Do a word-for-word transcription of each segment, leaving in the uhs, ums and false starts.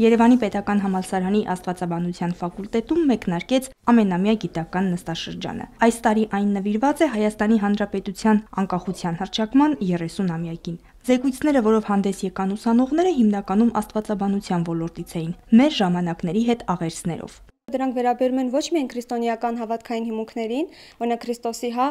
Երևանի պետական համալսարանի աստվածաբանության ֆակուլտետում մեկնարկեց ամենամյա գիտական նստաշրջանը։ Այս տարի այն նվիրված է Հայաստանի Հանրապետության անկախության հռչակման երեսունամյակին։ Զեկույցները, որով հանդես եկան ուսանողները, հիմնականում աստվածաբանության ոլորտից էին, մեր ժամանակների հետ աղերսներով։ Դրանք վերաբերում են ոչ միայն քրիստոնեական հավատքային հիմունքներին, օրինակ Քրիստոսի, հա,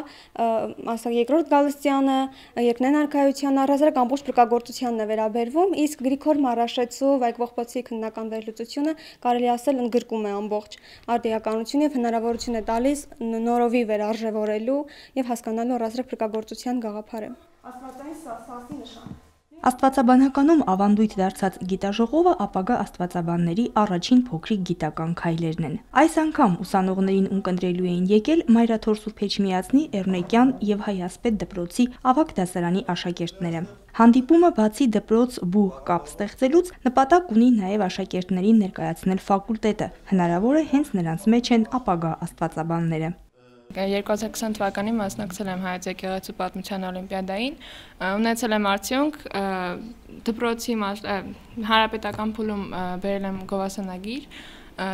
ասա երկրորդ գալստյանը, երկնային արքայության առհասարակ ամբողջ փրկagorցությանն է վերաբերվում, իսկ Գրիգոր Մարաշեցու Վայք Ողբոցի քննական վերլուծությունը կարելի ասել ընդգրկում է ամբողջ արդիականություն եւ հնարավորություն է տալիս նորովի վերարժևորելու եւ հասկանալու առհասարակ փրկagorցության գաղափարը։ Աստվածային սասի նշան։ Աստվածաբանականում ավանդույթ դարձած գիտաժողովը ապագա աստվածաբանների առաջին փոքրիկ գիտական քայլերն են։ Այս անգամ ուսանողներին ունկնդրելու էին եկել Մայրաթոր Սուրբ Էջմիածնի Էռնեկյան եւ Հայասպետ դպրոցի ավագ դասարանի աշակերտները։ Հանդիպումը բացի դպրոց-բուհ կապ ստեղծելուց նպատակ ունի նաեւ աշակերտներին ներկայացնել ֆակուլտետը։ Հնարավոր է հենց նրանց մեջ են ապագա աստվածաբանները։ երկու հազար քսան թվականին մասնակցել եմ Հայոց եկեղեցու պատմության օլիմպիադային, ունեցել եմ արդյունք, դպրոցի հանրապետական փուլում բերել եմ գովասանագիր,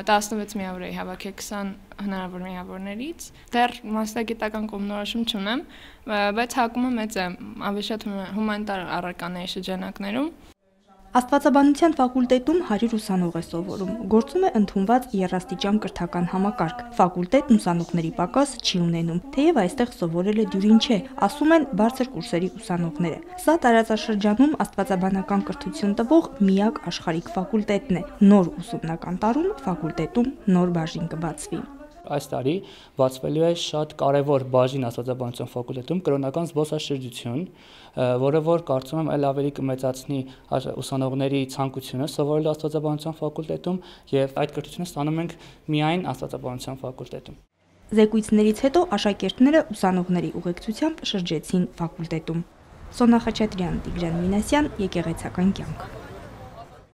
տասնվեց միավոր էի հավաքել քսան հնարավոր միավորներից, դեռ մասնագիտական կողմնորոշում չունեմ, բայց հակումը մեծ է, ավելի շատ հումանիտար առարկաների շրջանակներում։ Աստվածաբանության ֆակուլտետում հարյուր ուսանող է սովորում, գործում է ընդունված երաստիճան կրթական համակարգ, ֆակուլտետն ուսանողների պակաս չի ունենում, թեև այստեղ սովորել է դյուրին չէ, ասում են բարձր կուրսերի ուսանողները։ Սա տարածաշրջանում աստվածաբանական կրթություն տվող միակ աշխարհիկ ֆակուլտետն է, նոր ուսումնական տարում ֆակուլտետում նոր բաժին կբացվի։ Այս տարի բացվելու է շատ կարևոր բաժին աստվածաբանության ֆակուլտետում կրոնական զբոսաշրջություն, որը որ կարծում եմ այլ ավելի կմեծացնի ուսանողների ցանկությունը սովորելու աստվածաբանության ֆակուլտետում եւ այդ կրթությունը ստանում ենք միայն աստվածաբանության ֆակուլտետում։ Զեկույցներից հետո աշակերտները ուսանողների ուղեկցությամբ շրջեցին ֆակուլտետում։ Սոնա Խաչատրյան, Տիգրան Մինասյան, Եկեղեցական կյանք։